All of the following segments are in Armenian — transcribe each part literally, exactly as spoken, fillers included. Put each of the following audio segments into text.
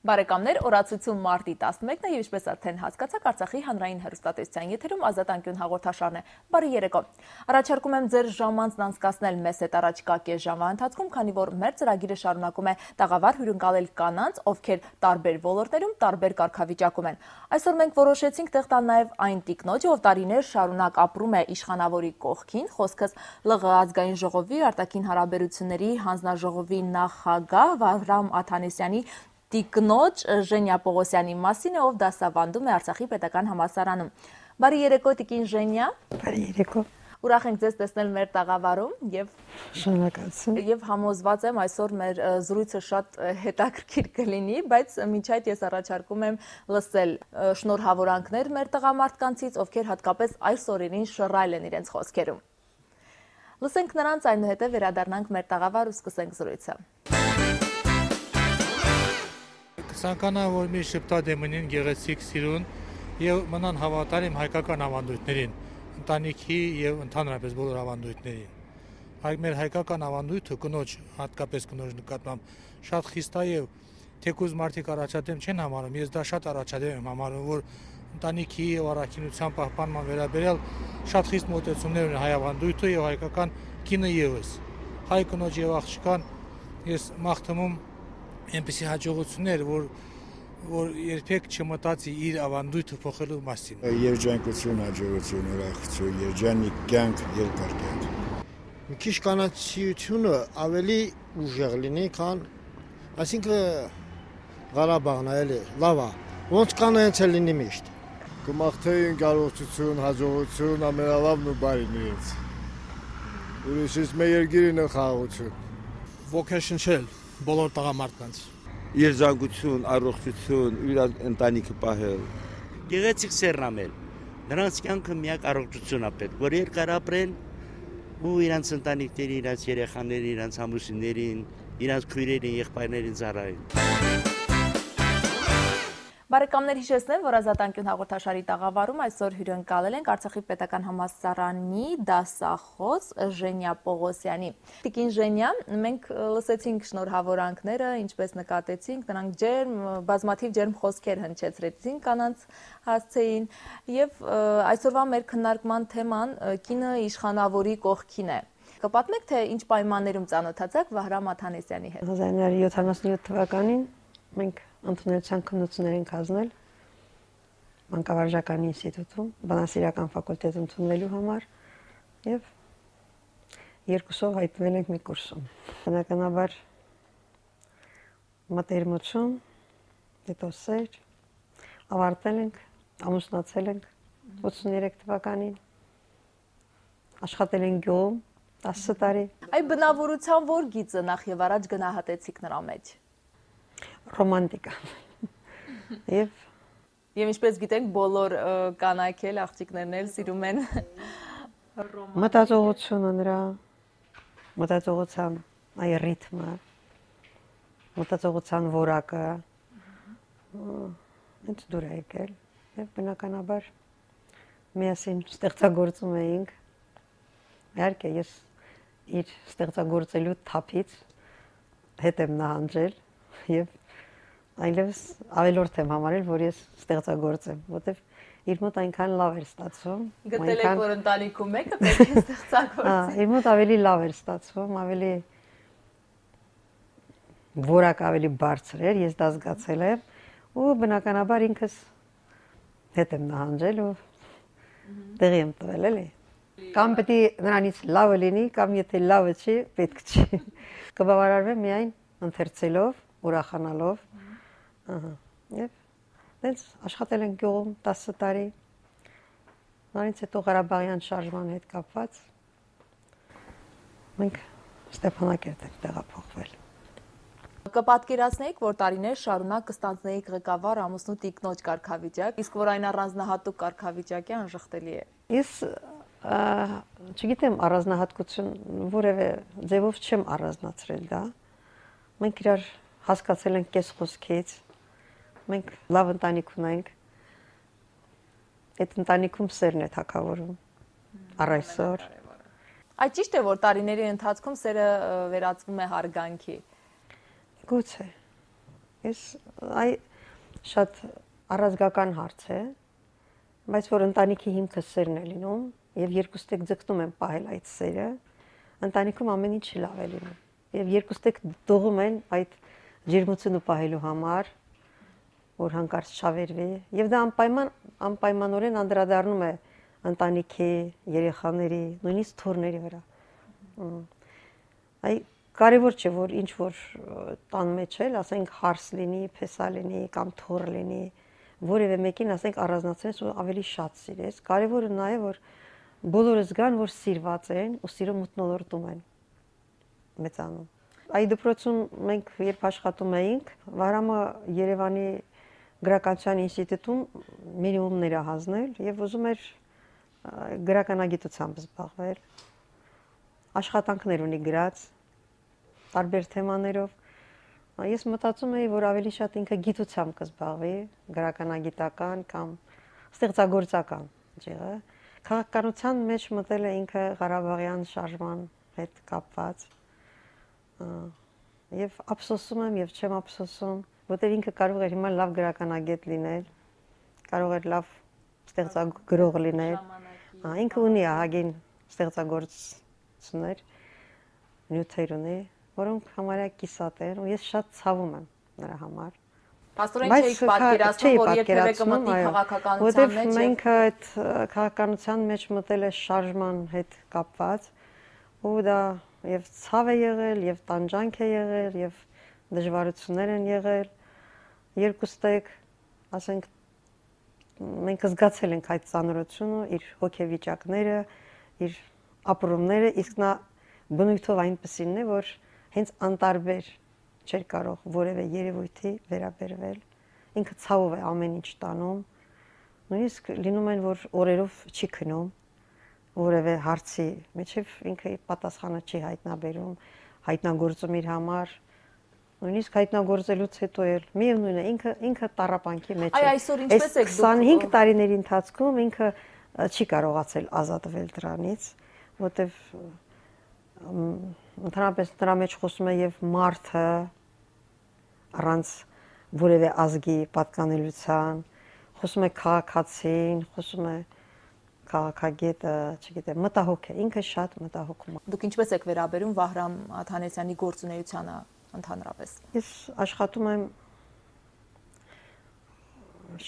Բարեկամներ, օրացություն մարտի տասնմեկն է եւ ինչպես արդեն հասկացաք, Արցախի հանրային հեռուստատեսության եթերում Ազատ անկյուն հաղորդաշարն է։ Բարի երեկո։ Առաջարկում եմ ձեր ժամանցն անցկացնել մեզ հետ առաջկա կես ժամվա ընթացքում, քանի որ մեր ծրագիրը շարունակում է տաղավար հյուրընկալել կանանց, ովքեր տարբեր ոլորտներում տարբեր կարգավիճակում են։ Այսօր մենք որոշեցինք տեղ տալ նաեւ այն տիկնոջը, ով տարիներ շարունակ ապրում է իշխանավորի կողքին, խոսքս ԼՂ ազգային ժողովի արտաքին հարաբերությունների հանձնաժողովի նախագահ Վահրամ Աթանեսյանի տիկնոջ Ժենյա Պողոսյանի մասին է, ով դասավանդում է Արցախի պետական համալսարանում։ Բարի երեկո, տիկին Ժենյա։ Բարի երեկո։ Ուրախ ենք ձեզ տեսնել մեր տաղավարում եւ շնորհակալություն։ Եվ համոզված եմ այսօր մեր զրույցը շատ հետաքրքիր կլինի, բայց մինչ այդ ես առաջարկում եմ լսել շնորհավորանքներ մեր տղամարդկանցից, ովքեր հատկապես այս օրերին շռայլ են իրենց խոսքերում։ Լսենք նրանց, այնուհետև վերադառնանք մեր տաղավար ու սկսենք զրույցը։ Ցանկանա որ մի շփտադեմին գեղեցիկ սիրուն եւ մնան հավատարիմ հայկական ավանդույթներին, ընտանիքի եւ ընդհանրապես բոլոր ավանդույթներին։ Հայ մեր հայկական ավանդույթը կնոջ, հատկապես կնոջ նկատմամբ շատ խիստ է եւ թեկուզ մարդիկ առաջադեմ չեն համարում, ես դա շատ առաջադեմ եմ համարում, որ ընտանիքի եւ առաքինության պահպանման վերաբերյալ շատ խիստ մոտեցումներ ունի հայ ավանդույթը եւ հայկական կինը եւս։ Հայ կնոջ եւ աղջկան ես մաղթում այնպիսի հաջողություններ, որ որ երբեք չմտածի իր ավանդույթը փոխելու մասին։ Երջանկություն, հաջողություն, ուրախություն, երջանիկ կյանք, երկար կյանք։ Մի քիչ կանացիությունը ավելի ուժեղ լինի, քան այսինքն Ղարաբաղն է, լավ է, ոնց կան հենց է լինի միշտ։ Կմաղթեին կարողություն, հաջողություն, ամենալավն ու բարին իրենց։ Ուրիշից մեր երկիրին է խաղաղություն։ Ոգեշնչել բոլոր տղամարդկանց։ Երջանկություն, առողջություն, իր ընտանիքը պահել։ Գեղեցիկ սերնամել։ Նրանց կյանքը միակ առողջությունն է պետք, որ երկար ապրեն ու իրանց ընտանիքների, իրանց երեխաների, իրանց ամուսիններին, իրանց քույրերին, եղբայրներին ծառայեն։ Բարեկամներ, հիշեցնեմ, որ Ազատ անկյուն հաղորդաշարի տաղավարում այսօր հյուրընկալել ենք Արցախի պետական համալսարանի դասախոս Ժենյա Պողոսյանի։ Տիկին Ժենյա, մենք լսեցինք շնորհավորանքները, ինչպես նկատեցինք, նրանք ջերմ, բազմաթիվ ջերմ խոսքեր հնչեցրեցին կանանց հասցեին, եւ այսօրվա մեր քննարկման թեման կինը իշխանավորի կողքին է։ Կպատմեք, թե ինչ պայմաններում ծանոթացաք Վահրամ Աթանեսյանի հետ։ հազար իննսուն հարյուր յոթանասունյոթ թվականին մենք ընդունելության քննություններ ենք հանձնել Մանկավարժական ինստիտուտում, բանասիրական ֆակուլտետ ընդունվելու համար եւ երկուսով հայտնվել ենք մի կուրսում։ Բնականաբար մտերմություն, հետո սեր, ավարտել ենք, ամուսնացել ենք ութսուներեք թվականին, աշխատել ենք գյուղում տասը տարի։ Այ բնավորության որ գիծը նախ եւ առաջ գնահատեցիք նրա մեջ։ Ռոմանտիկա։ Եվ Եվ ինչպես գիտենք, բոլոր կանայք էլ, աղջիկներն էլ սիրում են մտածողությունը նրա, մտածողության այ ռիթմը, մտածողության որակը, ինձ դուր է եկել եւ բնականաբար միասին ստեղծագործում էինք։ Իհարկե ես իր ստեղծագործելու թափից հետ եմ նահանջել եւ այլևս ավելորդ եմ համարել, որ ես ստեղծագործեմ, որտեվ իր մոտ այնքան լավ էր ստացվում։ Գտել եք, որ ընտանիքում եկը պետք է ստեղծագործի։ Հա, իր մոտ ավելի լավ էր ստացվում, ավելի որակ ավելի բարձր էր, ես դա զգացել եմ, ու բնականաբար ինքս հետ եմ նահանջել ու տեղի եմ տվել, էլի։ Կամ պետք է նրանից լավը լինի, կամ եթե լավը չի, պետք չի։ Կբավարարվեմ միայն ընթերցելով, ուրախանալով։ Ահա։ Եվ դες աշխատել ենք գյուղում տասը տարի։ Նրանից հետո Ղարաբաղյան շարժման հետ կապված մենք Ստեփանակերտ ենք տեղափոխվել։ Կպատկերացնեիք, որ տարիներ շարունակ կստանձնեիք ղեկավար ամուսնու տիկնոջ կարգավիճակ, իսկ որ այն առանձնահատուկ կարգավիճակ է, անժխտելի է։ Ես չգիտեմ առանձնահատկություն որևէ ձևով չեմ առանձնացրել դա։ Մենք իրար հասկացել ենք կես խոսքից, մենք լավ ընտանիք ունենք, այդ ընտանիքում սերն է թագավորում առ այսօր։ Այդ ճիշտ է, որ տարիների ընթացքում սերը վերածվում է հարգանքի։ Գուցե, Ես այ շատ առազգական հարց է, բայց որ ընտանիքի հիմքը սերն է լինում եւ երկուստեք ձգտում են պահել այդ սերը, ընտանիքում ամեն ինչ լավ է լինում։ Եվ երկուստեք դողում են այդ ջերմությունը պահելու համար, որ հանկարծ չավերվի, եւ դա անպայման անպայմանորեն անդրադառնում է ընտանիքի, երեխաների, նույնիսկ թոռների վրա։ Այ կարևոր չէ, որ ինչ որ տան մեջ էլ, ասենք հարս լինի, փեսա լինի կամ թոռ լինի, որևէ մեկին ասենք առանձնացնես ու ավելի շատ սիրես։ Կարևորը նա է, որ բոլորը զգան, որ սիրված են ու սիրո մթնոլորտում են մեծանում։ Այ դպրոցում մենք երբ աշխատում էինք, Վահրամը Երևանի գրականության ինստիտուտում մինիմումներ է հանձնել եւ ուզում էր գրականագիտությամբ զբաղվել։ Աշխատանքներ ունի գրած տարբեր թեմաներով։ Ես մտածում էի, որ ավելի շատ ինքը գիտությամբ կզբաղվի, գրականագիտական կամ ստեղծագործական ջեղը։ Քաղաքականության մեջ մտել է ինքը Ղարաբաղյան շարժման հետ կապված։ Եվ ափսոսում եմ եւ չեմ ափսոսում, որտեղ ինքը կարող էր հիմա լավ գրականագետ լինել, կարող էր լավ ստեղծագրող լինել։ Ինքը ունի ահագին ստեղծագործություններ, նյութեր ունի, որոնք համարյա կիսատ են, ու ես շատ ցավում եմ նրա համար։ Պաստորեն չէիք պատկերացնում, որ երբևէ կմտնի քաղաքականության մեջ։ Որտեղ մենք այդ քաղաքականության մեջ մտել է շարժման հետ կապված, ու դա եւ ցավ է եղել, եւ տանջանք է եղել, եւ դժվարություններ են եղել։ Երկուստեք, ասենք, մենք զգացել ենք այդ ծանրությունը, իր հոգեվիճակները, իր ապրումները, իսկ նա բնույթով այնպեսին է, որ հենց անտարբեր չէր կարող որևէ երևույթի վերաբերվել։ Ինքը ցավով է ամեն ինչ տանում։ Նույնիսկ լինում են, որ օրերով չի քնում որևէ հարցի, միջև ինքը պատասխանը չի հայտնաբերում, հայտնագործում իր համար։ Նույնիսկ հայտնագործելուց հետո էլ միևնույն է, ինքը ինքը տառապանքի մեջ է։ Այ այսօր ինչպես եք դուք քսանհինգ տարիների ընթացքում ինքը չի կարողացել ազատվել դրանից, որտեվ ընդհանրապես նրա մեջ խոսում է եւ մարդը առանց որևէ ազգի պատկանելիության, խոսում է քաղաքացին, խոսում է քաղաքագետը, չգիտեմ, մտահոգ է, ինքը շատ մտահոգում է։ Դուք ինչպես եք վերաբերում Վահրամ Աթանեսյանի գործունեությանը ընդհանրապես։ Ես աշխատում եմ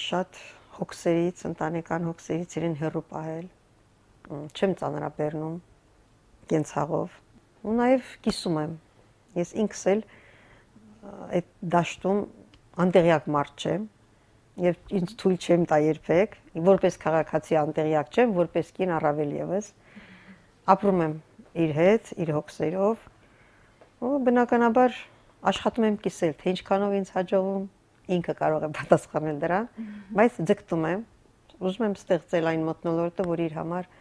շատ հոգսերից, ընտանեկան հոգսերից իրեն հեռու պահել, չեմ ծանրաբեռնում կենցաղով, ու նաև կիսում եմ։ Ես ինքս էլ այդ դաշտում անտեղյակ մարդ չեմ, եւ ինձ թույլ չեմ տա երբեք, որպես քաղաքացի անտեղյակ չեմ, որպես կին առավել եւս ապրում եմ իր հետ, իր հոգսերով, ու բնականաբար աշխատում եմ կիսել, թե ինչքանով ինձ հաջողում, ինքը կարող է պատասխանել դրան, բայց ձգտում եմ, ուզում եմ ստեղծել այն մթնոլորտը, որ իր համար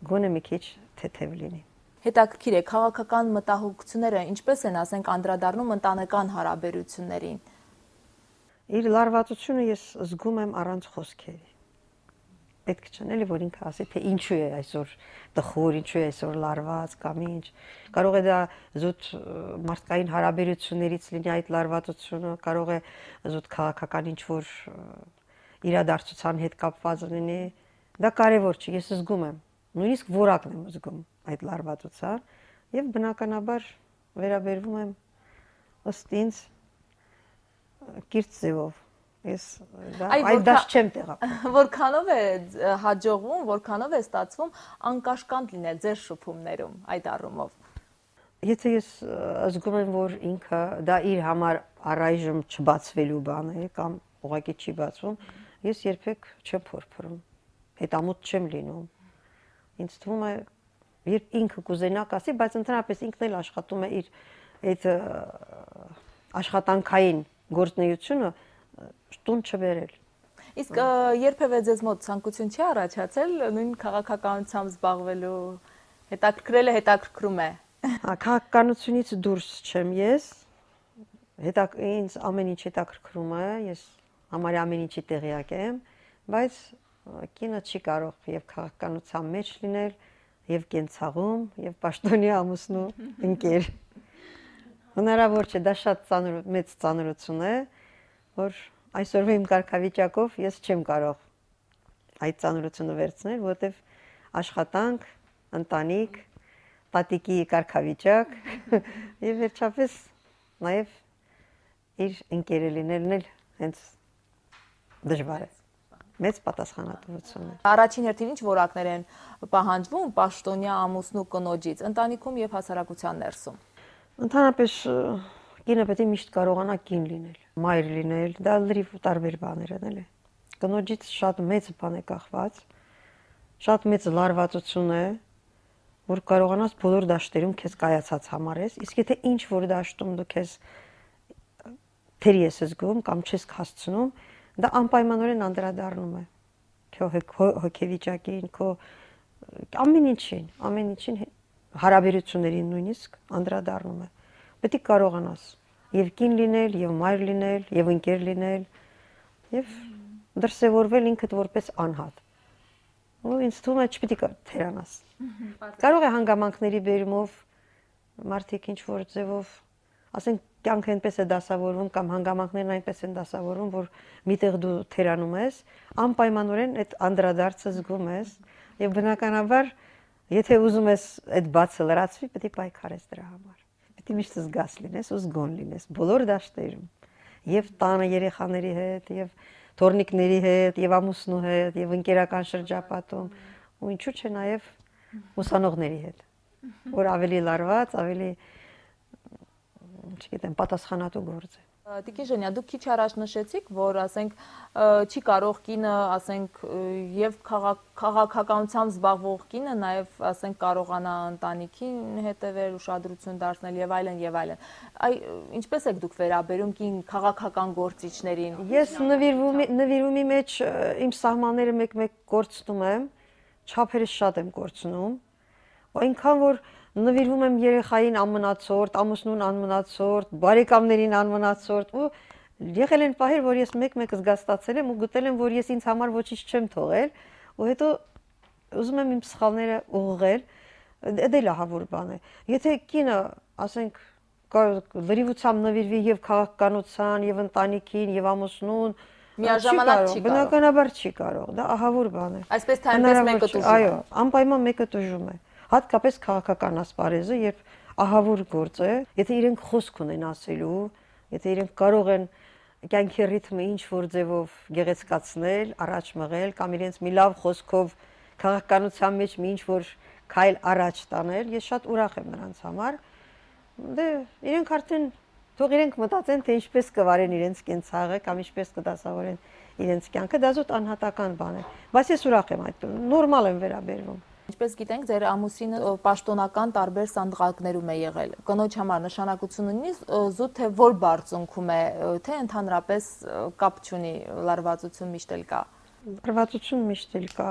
գոնե մի քիչ թեթև լինի։ Հետաքրքիր է, քաղաքական մտահոգությունները ինչպես են, ասենք, անդրադառնում ընտանեկան հարաբերություններին։ Իր լարվածությունը ես զգում եմ առանց խոսքերի։ Պետք չէ էլի, որ ինքը ասի, թե ինչու է այսօր տխուր, ինչու է այսօր լարված կամ ինչ։ Կարող է դա զուտ մարդկային հարաբերություններից լինի այդ լարվածությունը, կարող է զուտ քաղաքական ինչ-որ իրադարձության հետ կապված լինի։ Դա կարևոր չէ, ես զգում եմ, նույնիսկ որակն եմ զգում այդ լարվածության եւ բնականաբար վերաբերվում եմ ըստ ինձ կիրթ ձևով։ Ես դա այդ դաշտ չեմ տեղափոխում։ Որքանով է հաջողվում, որքանով է ստացվում անկաշկանդ լինել ձեր շփումներում այդ առումով։ Եթե ես զգում եմ, որ ինքը դա իր համար առայժմ չբացվելու բան է կամ ուղղակի չի բացվում, ես երբեք չեմ փորփրում։ Հետամուտ չեմ լինում։ Ինձ թվում է, երբ ինքը կուզենա կասի, բայց ընդհանրապես ինքն էլ աշխատում է իր այդ աշխատանքային գործունեությունը տուն չբերել։ Իսկ երբևէ ձեզ մոտ ցանկություն չի առաջացել նույն քաղաքականությամբ զբաղվելու, հետաքրքրելը հետաքրքրում է։ Հա, քաղաքականությունից դուրս չեմ ես, հետա ինձ ամեն ինչ հետաքրքրում է, ես համարյա ամեն ինչի տեղյակ եմ, բայց կինը չի կարող եւ քաղաքականության մեջ լինել, եւ կենցաղում, եւ պաշտոնյա ամուսնու ընկեր։ Հնարավոր չէ, դա շատ ծանր մեծ ծանրություն է, որ այսօրվա իմ կարգավիճակով ես չեմ կարող այդ ծանրությունը վերցնել, որովհետև աշխատանք, ընտանիք, տատիկի կարգավիճակ եւ վերջապես նաեւ իր ընկերը լինելն էլ հենց դժվար է։ Մեծ պատասխանատվություն է։ Առաջին հերթին ինչ որակներ են պահանջվում պաշտոնյա ամուսնու կնոջից ընտանիքում եւ հասարակության ներսում։ Ընդհանրապես կինը պետք է միշտ կարողանա կին լինել, մայր լինել, դա լրիվ տարբեր բաներ են, էլի։ Կնոջից շատ մեծ բան է կախված, շատ մեծ լարվածություն է, որ կարողանաս բոլոր դաշտերում քեզ կայացած համարես, իսկ եթե ինչ որ դաշտում դու քեզ թերի ես զգում կամ չես հասցնում, դա անպայմանորեն անդրադառնում է քո հոգեվիճակին, քո ամեն ինչին, ամեն ինչին հարաբերություններին նույնիսկ անդրադառնում է։ Պետք է կարողանաս եւ կին լինել, եւ մայր լինել, եւ ընկեր լինել, եւ դրսեւորվել ինքդ որպես անհատ։ Ու ինձ թվում է չպետք է թերանաս։ Կարող է հանգամանքների բերումով մարդիկ ինչ որ ձևով, ասենք կյանքը այնպես է դասավորվում կամ հանգամանքներն այնպես են դասավորվում, որ միտեղ դու թերանում ես, անպայմանորեն այդ անդրադարձը զգում ես եւ բնականաբար եթե ուզում ես այդ բացը լրացվի, պետք է պայքարես դրա համար։ Պետք է միշտ զգաս լինես ու զգոն լինես բոլոր դաշտերում, եւ տանը երեխաների հետ, եւ թորնիկների հետ, եւ ամուսնու հետ, եւ ընկերական շրջապատում, ու ինչու՞ չէ նաեւ ուսանողների հետ, որ ավելի լարված, ավելի չգիտեմ, պատասխանատու գործ է։ Տիկին Ժենյա, դուք քիչ առաջ նշեցիք, որ ասենք չի կարող կինը, ասենք եւ քաղաքականությամբ զբաղվող կինը նաեւ ասենք կարողանա ընտանիքին հետևել, ուշադրություն դարձնել եւ այլն եւ այլն։ Այ ինչպես եք դուք վերաբերում կին քաղաքական գործիչներին։ Ես նվիրումի նվիրումի մեջ իմ սահմանները մեկ-մեկ կորցնում եմ, չափերս շատ եմ կորցնում, այնքան որ նվիրվում եմ երեխային անմնացորդ, ամուսնուն անմնացորդ, բարեկամներին անմնացորդ ու եղել են պահեր, որ ես մեկ-մեկ զգաստացել եմ ու գտել եմ, որ ես ինձ համար ոչինչ չեմ թողել ու հետո ուզում եմ իմ սխալները ուղղել, դա էլ ահավոր բան է։ Եթե կինը, ասենք, լրիվությամբ նվիրվի եւ քաղաքականության, եւ ընտանիքին, եւ ամուսնուն, միաժամանակ չի կարող։ Բնականաբար չի կարող, դա ահավոր բան է։ Այսպես թե այնպես մեկը տուժում է։ Այո, անպայման մեկը տուժում է։ Հատկապես քաղաքական ասպարեզը, երբ ահավոր գործ է, եթե իրենք խոսք ունեն ասելու, եթե իրենք կարող են կյանքի ռիթմը ինչ որ ձևով գեղեցկացնել, առաջ մղել կամ իրենց մի լավ խոսքով քաղաքականության մեջ մի ինչ որ քայլ առաջ տանել, ես շատ ուրախ եմ նրանց համար։ Դե իրենք արդեն թող իրենք մտածեն, թե ինչպես կվարեն իրենց կենցաղը կամ ինչպես կդասավորեն իրենց կյանքը, դա զուտ անհատական բան է, բայց ես ուրախ եմ այդ, նորմալ եմ վերաբերվում։ Ինչպես գիտենք, ձեր ամուսինը պաշտոնական տարբեր սանդղակներում է եղել։ Կնոջ համար նշանակություն ունի զուտ թե որ բարձունքում է, թե ընդհանրապես կապ չունի, լարվածություն միշտ էլ կա։ Լարվածություն միշտ էլ կա։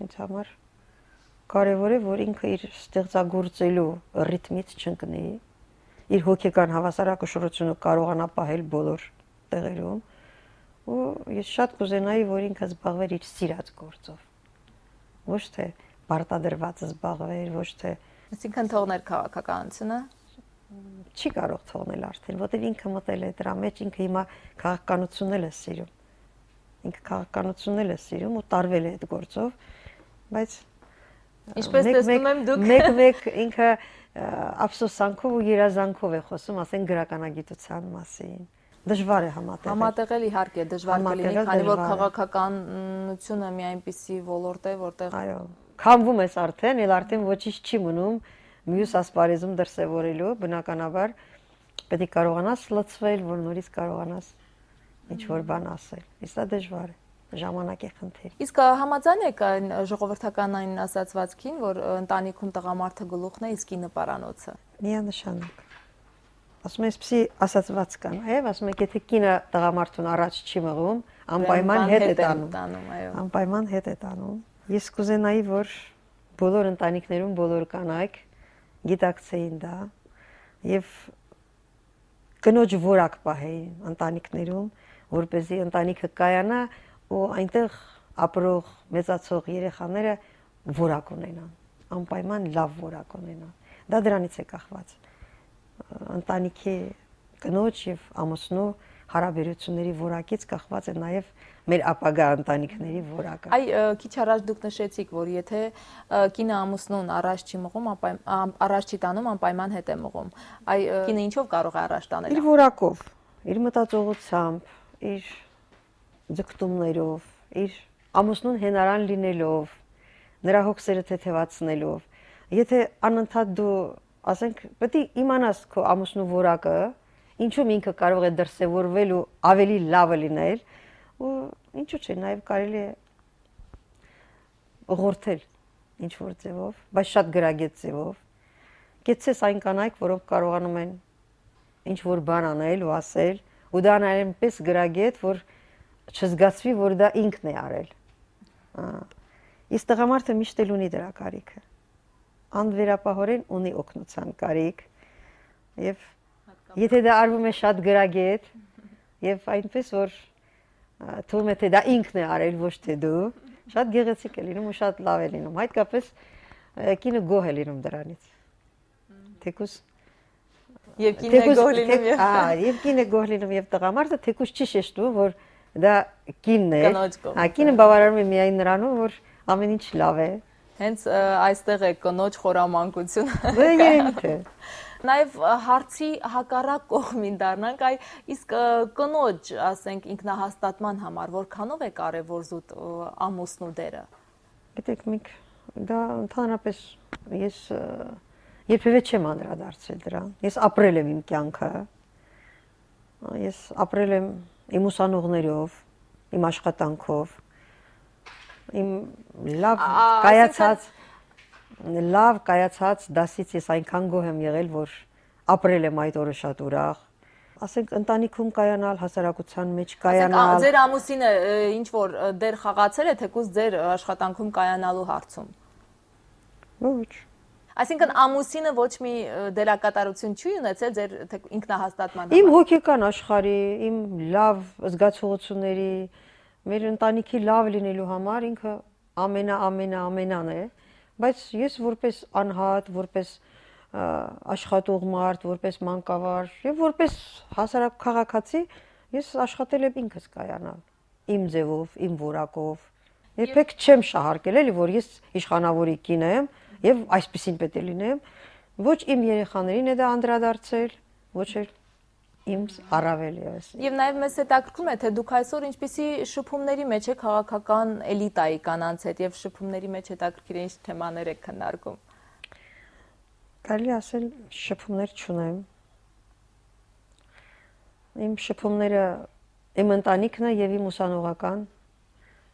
Ինձ համար կարևոր է, որ ինքը իր ստեղծագործելու ռիթմից չընկնի, իր հոգեկան հավասարակշռությունը կարողանա պահել բոլոր տեղերում, ու ես շատ կուզենայի, որ ինքը զբաղվեր իր սիրած գործով։ Ոչ թե պարտադրված զբաղվեր, ոչ թե այսինքն թողներ քաղաքականությունը չի կարող թողնել արդեն, որտեղ ինքը մտել է դրա մեջ, ինքը հիմա քաղաքականությունն էլ է սիրում։ Ինքը քաղաքականությունն էլ է սիրում ու տարվել է այդ գործով, բայց ինչպես տեսնում եմ դուք մեկ-մեկ ինքը ափսոսանքով ու երազանքով է խոսում, ասեն գրականագիտության մասին։ Դժվար է համատեղել։ Համատեղել իհարկե դժվար կլինի, քանի որ քաղաքականությունը մի այնպիսի ոլորտ է, որտեղ այո, քամվում ես արդեն, ել արդեն ոչինչ չի մնում մյուս ասպարեզում դրսևորելու, բնականաբար պետք է կարողանաս լցվել, որ նորից կարողանաս ինչ որ բան ասել։ Իսկ դա դժվար է, ժամանակ է խնդիր։ Իսկ համաձայն եք այն ժողովրդական այն ասացվածքին, որ ընտանիքում տղամարդը գլուխն է, իսկ կինը պարանոցը։ Միանշանակ։ Ասում եմ, այսպեսի ասացված կան, այո, ասում եք, եթե կինը տղամարդուն առաջ չի մղում, անպայման հետ է տանում, անպայման հետ է տանում։ Ես կուզենայի, որ բոլոր ընտանիքներում բոլոր կանայք գիտակցեին դա եւ կնոջ որակ պահեին ընտանիքներում, որպեսզի ընտանիքը կայանա ու այնտեղ ապրող մեծացող երեխաները որակ ունենան, անպայման լավ որակ ունենան։ Դա դրանից է կախված։ Ընտանիքի կնոջ եւ ամուսնու հարաբերությունների որակից կախված է նաև մեր ապագա ընտանիքների որակը։ Այ քիչ առաջ դուք նշեցիք, որ եթե կինը ամուսնուն առաջ չի մղում, առաջ չի տանում, անպայման հետ է մղում։ Այ կինը ինչով կարող է առաջ տանել։ Իր որակով, իր մտածողությամբ, իր ձգտումներով, իր ամուսնուն հենարան լինելով, նրա հոգսերը թեթևացնելով։ Եթե անընդհատ դու, ասենք, պետք է իմանաս քո ամուսնու որակը, ինչու ինքը կարող է դրսևորվել ու ավելի լավը լինել, ու ինչու՞ չէ, նաև կարելի է ուղղորդել ինչ որ ձևով, բայց շատ գրագետ ձևով։ Գեցես այն կանայք, որոնք կարողանում են ինչ որ բան անել ու ասել, ու դա անել այնպես գրագետ, որ չզգացվի, որ դա ինքն է արել։ Իսկ տղամարդը միշտ էլ ունի դրա կարիքը։ Անվերապահորեն ունի օգնության կարիք, եւ եթե դա արվում է շատ գրագետ, եւ այնպես որ թվում է թե դա ինքն է արել, ոչ թե դու, շատ գեղեցիկ է լինում ու շատ լավ է լինում։ Հատկապես կինը գոհ է լինում դրանից։ Թեկուզ եւ կինը գոհ լինում եւ հա, եւ կինը գոհ լինում եւ տղամարդը թեկուզ չի շեշտում, որ դա կինն է։ Հա, կինը բավարարում է միայն նրանով, որ ամեն ինչ լավ է։ Հենց այստեղ է կնոջ խորամանկությունը։ Դա երևի թե։ Նաև հարցի հակառակ կողմին դառնանք, այ իսկ կնոջ, ասենք, ինքնահաստատման համար որքանով է կարևոր զուտ ամուսնու դերը։ Գիտեք, մենք դա ընդհանրապես ես երբևէ չեմ անդրադարձել դրան։ Ես ապրել եմ իմ կյանքը։ Ես ապրել եմ իմ ուսանողներով, իմ աշխատանքով, իմ լավ կայացած լավ կայացած դասից ես այնքան գոհ եմ եղել, որ ապրել եմ այդ օրը շատ ուրախ։ Ասենք ընտանիքում կայանալ, հասարակության մեջ կայանալ։ Ասենք ձեր ամուսինը ինչ որ դեր խաղացել է թեկուզ ձեր աշխատանքում կայանալու հարցում։ Ոչ։ Այսինքն ամուսինը ոչ մի դերակատարություն չի ունեցել ձեր ինքնահաստատման համար։ Իմ հոգեկան աշխարհի, իմ լավ զգացողությունների, մեր ընտանիքի լավ լինելու համար ինքը ամենա ամենա ամենան է։ Բայց ես որպես անհատ, որպես աշխատող մարդ, որպես մանկավար եւ որպես հասարակ քաղաքացի, ես աշխատել եմ ինքս կայանալ, իմ ձևով, իմ որակով։ Երբեք չեմ շահարկել, էլի որ ես իշխանավորի կին եմ եւ այսպեսին պետք է լինեմ, ոչ իմ երեխաներին է դա անդրադարձել, ոչ էլ իմ առավել եւս։ Եվ նաեւ մեզ հետաքրքրում է, թե դուք այսօր ինչպիսի շփումների մեջ եք քաղաքական էլիտայի կանանց հետ եւ շփումների մեջ հետաքրքիր է ինչ թեմաներ եք քննարկում։ Կարելի ասել շփումներ չունեմ։ Իմ շփումները իմ ընտանիքն է եւ իմ ուսանողական,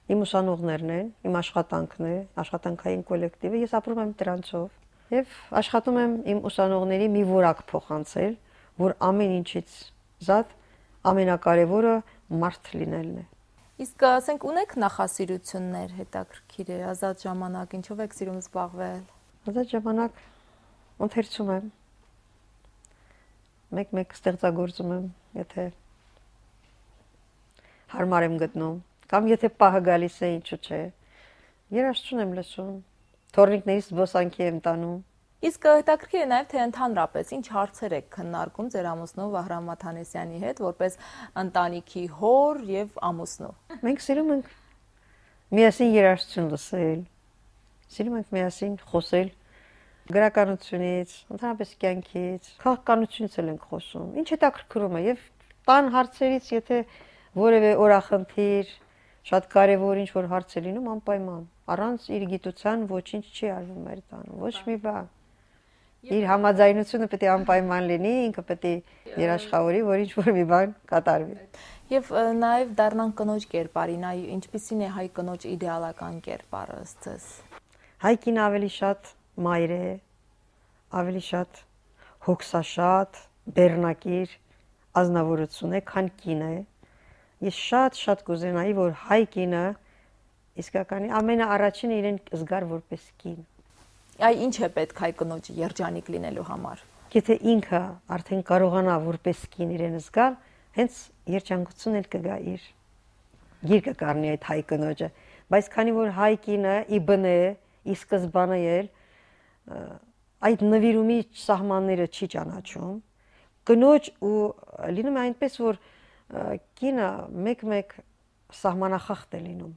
իմ ուսանողներն են, իմ աշխատանքն է, աշխատանքային կոլեկտիվը, ես ապրում եմ դրանցով եւ աշխատում եմ իմ ուսանողների մի որակ փոխանցել, որ ամեն ինչից զատ ամենակարևորը մարդ լինելն է։ Իսկ ասենք ունեք նախասիրություններ, հետաքրքիր է, ազատ ժամանակ, ինչով եք սիրում զբաղվել։ Ազատ ժամանակ ընթերցում եմ։ Մեկ-մեկ ստեղծագործում եմ, եթե հարմար եմ գտնում, կամ եթե պահը գալիս է, ինչու՞ չէ։ Երաժշտություն եմ լսում, թորնիկներից զբոսանքի եմ տանում։ Իսկ հետաքրքիր է նաև թե ընդհանրապես ինչ հարցեր եք քննարկում ձեր ամուսնու Վահրամ Մաթանեսյանի հետ որպես ընտանիքի հոր եւ ամուսնու։ Մենք սիրում ենք միասին երաժշտություն լսել, սիրում ենք միասին խոսել գրականությունից, ընդհանրապես կյանքից, քաղաքականությունից էլ ենք խոսում։ Ինչ հետաքրքրում է եւ տան հարցերից, եթե որևէ օրախնդիր, շատ կարեւոր ինչ որ հարց է լինում, անպայման առանց իր գիտության ոչինչ չի արվում մեր տանը, ոչ մի բան։ Իր համաձայնությունը պետք է անպայման լինի, ինքը պետք է երաշխավորի, որ ինչ որ մի բան կատարվի։ Եվ նաև դառնան կնոջ կերպարին, այ ինչպիսին է հայ կնոջ իդեալական կերպարը ըստ ձեզ։ Հայ կինը ավելի շատ մայր է, ավելի շատ հոգսաշատ, բեռնակիր, ազնվորություն է, քան կինը։ Ես շատ-շատ կուզենայի, որ հայ կինը իսկականի ամենաառաջինը իրեն զգար որպես կին։ Այ ինչ է պետք հայ կնոջ երջանիկ լինելու համար։ Եթե ինքը արդեն կարողանա որպես կին իրեն զգալ, հենց երջանկություն էլ կգա իր։ Գիրկը կառնի այդ հայ կնոջը, բայց քանի որ հայ կինը ի բնե, ի սկզբանե էլ այդ նվիրումի սահմանները չի ճանաչում, կնոջ ու լինում է այնպես, որ կինը մեկ-մեկ սահմանախախտ է լինում։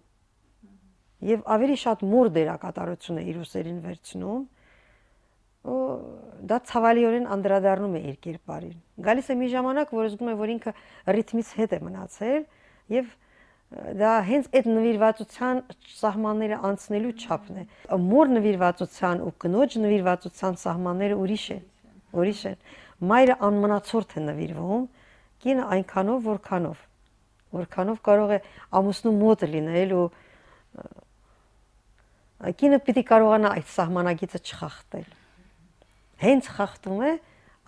Եվ ավելի շատ մոր դերակատարություն է իր ուսերին վերցնում, ու դա ցավալիորեն անդրադառնում է իր կերպարին։ Գալիս է մի ժամանակ, որ զգում է, որ ինքը ռիթմից հետ է մնացել, եւ դա հենց այդ նվիրվածության սահմանները անցնելու չափն է։ Մոր նվիրվածության ու կնոջ նվիրվածության սահմանները ուրիշ են, ուրիշ են։ Մայրը անմնացորդ է նվիրվում, կինը այնքանով, որքանով, որքանով կարող է ամուսնու մոտ լինել ու կինը պիտի կարողանա այդ սահմանագիծը չխախտել։ Հենց խախտում է,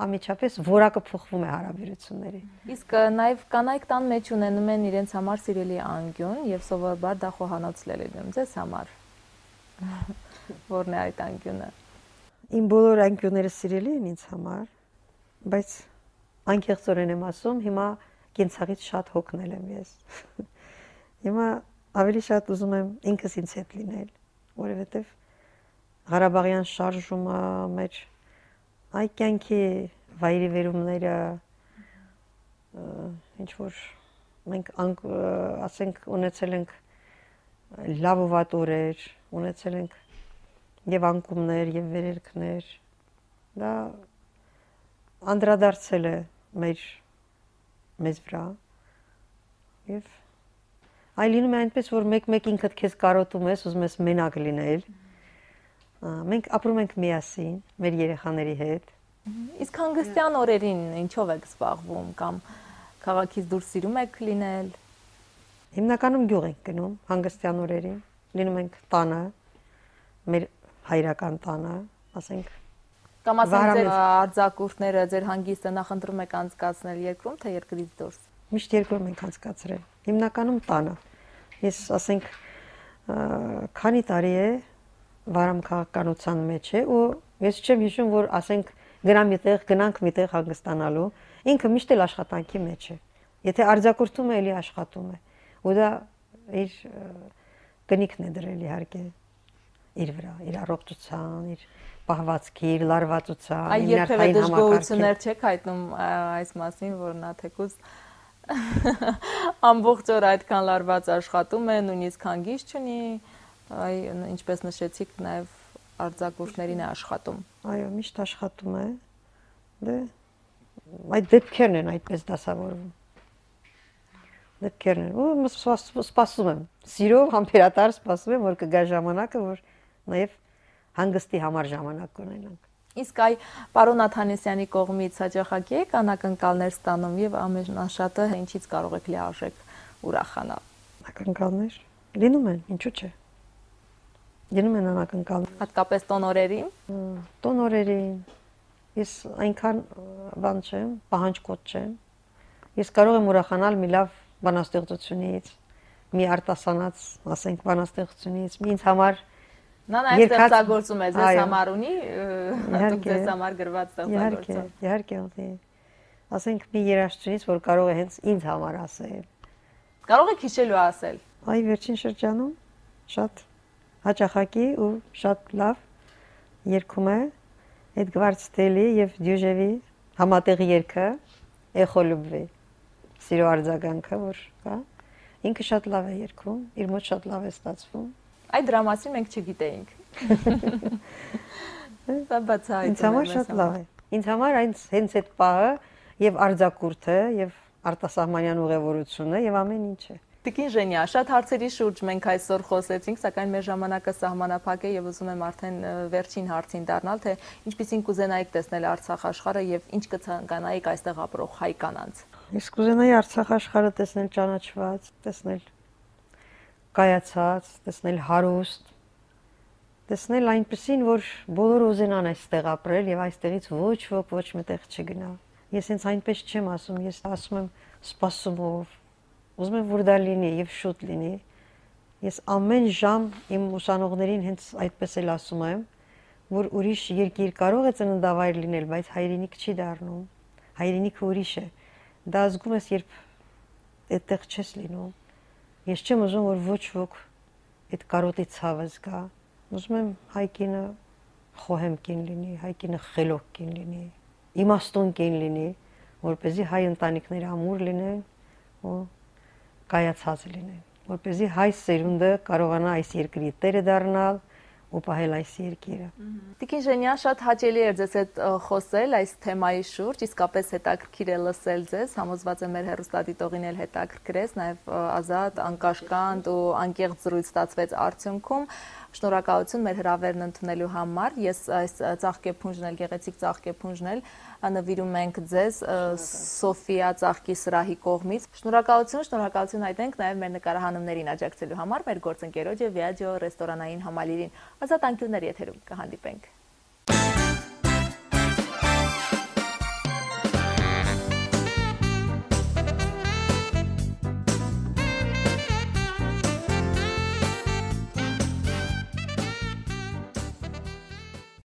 ամիջապես որակը փոխվում է հարաբերությունների։ Իսկ նաև կանայք տան մեջ ունենում են իրենց համար սիրելի անկյուն եւ սովորաբար դա խոհանոց լինում ձեզ համար։ Որն է այդ անկյունը։ Իմ բոլոր անկյունները սիրելի են ինձ համար, բայց անկեղծորեն եմ ասում, հիմա կենցաղից շատ հոգնել եմ ես։ Հիմա ավելի շատ ուզում եմ ինքս ինձ հետ լինել, որովհետեւ Ղարաբաղյան շարժումը մեր այ կյանքի վայրի վերումները ինչ որ մենք ասենք ունեցել ենք լավ ու վատ օրեր, ունեցել ենք եւ անկումներ եւ վերերքներ, դա անդրադարձել է մեր մեզ վրա եւ այ լինում է այնպես, որ մեկ-մեկ ինքդ քեզ կարոտում ես, ուզում ես մենակ լինել։ Մենք ապրում ենք միասին, մեր երեխաների հետ։ Իսկ հանգստյան օրերին ինչով եք զբաղվում կամ քաղաքից դուրս սիրում եք լինել։ Հիմնականում գյուղ ենք գնում հանգստյան օրերին, լինում ենք տանը, մեր հայրական տանը, ասենք։ Կամ ասենք ձեր արձակուրդները, ձեր հանգիստը նախընտրում եք անցկացնել երկրում, թե երկրից դուրս։ Միշտ երկրում ենք անցկացրել։ Հիմնականում տանը։ Ես ասենք քանի տարի է Վարամ քաղաքականության մեջ է ու ես չեմ հիշում, որ ասենք գնամ միտեղ, գնանք միտեղ հանգստանալու, ինքը միշտ էլ աշխատանքի մեջ է։ Եթե արձակուրդում է, էլի աշխատում է։ Ու դա իր կնիքն է դրել իհարկե իր վրա, իր առողջության, իր պահվածքի, իր լարվածության, իր ներքային դժգոհություններ չեք հայտնում այս մասին, որ նա թեկուզ ամբողջ օր այդքան լարված աշխատում է, նույնիսկ հանգիստ չունի, այ ինչպես նշեցիք, նաև արձակուրդներին է աշխատում։ Այո, միշտ աշխատում է։ Դե այդ դեպքերն են այդպես դասավորվում։ Դեպքերն են։ Ու սպասում եմ, սիրով համբերատար սպասում եմ, որ կգա ժամանակը, որ նաև հանգստի համար ժամանակ կունենանք։ Իսկ այ պարոն Աթանեսյանի կողմից հաճախակի եք անակնկալներ ստանում եւ ամենաշատը ինչից կարող եք լիարժեք ուրախանալ։ Անակնկալներ լինում են, ինչու՞ չէ։ Լինում են անակնկալներ։ Հատկապես տոնորերին։ Տոնորերին։ Ես այնքան բան չեմ, պահանջկոտ չեմ։ Ես կարող եմ ուրախանալ մի լավ բանաստեղծությունից, մի արտասանած, ասենք, բանաստեղծությունից, մի ինձ համար Նա նաև ստեղծագործում է, ձեզ համար ունի, հատուկ ձեզ համար գրված ստեղծագործում։ Իհարկե, իհարկե։ Ասենք մի երաժշտությունից, որ կարող է հենց ինձ համար ասել։ Կարող եք հիշելու ասել։ Այ վերջին շրջանում շատ հաճախակի ու շատ լավ երգում է Էդգարդ Ստելի եւ Դյուժևի համատեղ երգը Էխոլուբվի։ Սիրո արձագանքը, որ կա։ Ինքը շատ լավ է երգում, իր մոտ շատ լավ է ստացվում։ Այդ դրա մասին մենք չգիտեինք։ Դա բացահայտում է։ Ինձ համար շատ լավ է։ Ինձ համար այն հենց այդ պահը եւ արձակուրդը եւ արտասահմանյան ուղևորությունը եւ ամեն ինչը։ Տիկին Ժենյա, շատ հարցերի շուրջ մենք այսօր խոսեցինք, սակայն մեր ժամանակը սահմանափակ է եւ ուզում եմ արդեն վերջին հարցին դառնալ, թե ինչպիսին կուզենայիք տեսնել Արցախ աշխարհը եւ ինչ կցանկանայիք այստեղ ապրող հայ կանանց։ Ես կուզենայի Արցախ աշխարհը տեսնել ճանաչված, տեսնել կայացած, տեսնել հարուստ, տեսնել այնպեսին, որ բոլորը ուզենան այստեղ ապրել եւ այստեղից ոչ ոք ոչ մտեղ չգնա։ Ես ինձ այնպես չեմ ասում, ես ասում եմ սպասումով, ուզում եմ որ դա լինի եւ շուտ լինի։ Ես ամեն ժամ իմ ուսանողներին հենց այդպես էլ ասում եմ, որ ուրիշ երկիր կարող է ծննդավայր լինել, բայց հայրենիք չի դառնում։ Հայրենիքը ուրիշ է։ Դա զգում ես, երբ այդտեղ չես լինում։ Ես չեմ ուզում, որ ոչ ոք այդ կարոտի ցավը զգա։ Ուզում եմ հայ կինը խոհեմ կին լինի, հայ կինը խելոք կին լինի, իմաստուն կին լինի, որպեսզի հայ ընտանիքները ամուր լինեն ու կայացած լինեն, որպեսզի հայ սերունդը կարողանա այս երկրի տերը դառնալ ու պահել այս երկիրը։ Տիկին Ժենյան, շատ հաճելի էր ձեզ հետ խոսել այս թեմայի շուրջ, իսկապես հետաքրքիր է լսել ձեզ, համոզված եմ մեր հեռուստադիտողին էլ հետաքրքրեց, նաև ազատ, անկաշկանդ ու անկեղծ զրույց ստացվեց արդյունքում։ Շնորհակալություն մեր հրավերն ընդունելու համար։ Ես այս ծաղկեփունջն էլ, գեղեցիկ ծաղկեփունջն էլ նվիրում ենք ձեզ Սոֆիա ծաղկի սրահի կողմից։ Շնորհակալություն, շնորհակալություն հայտնենք նաև մեր նկարահանումներին աջակցելու համար, մեր գործընկերոջ եւ Viaggio ռեստորանային համալիրին։ Ազատ անկյունների եթերում կհանդիպենք։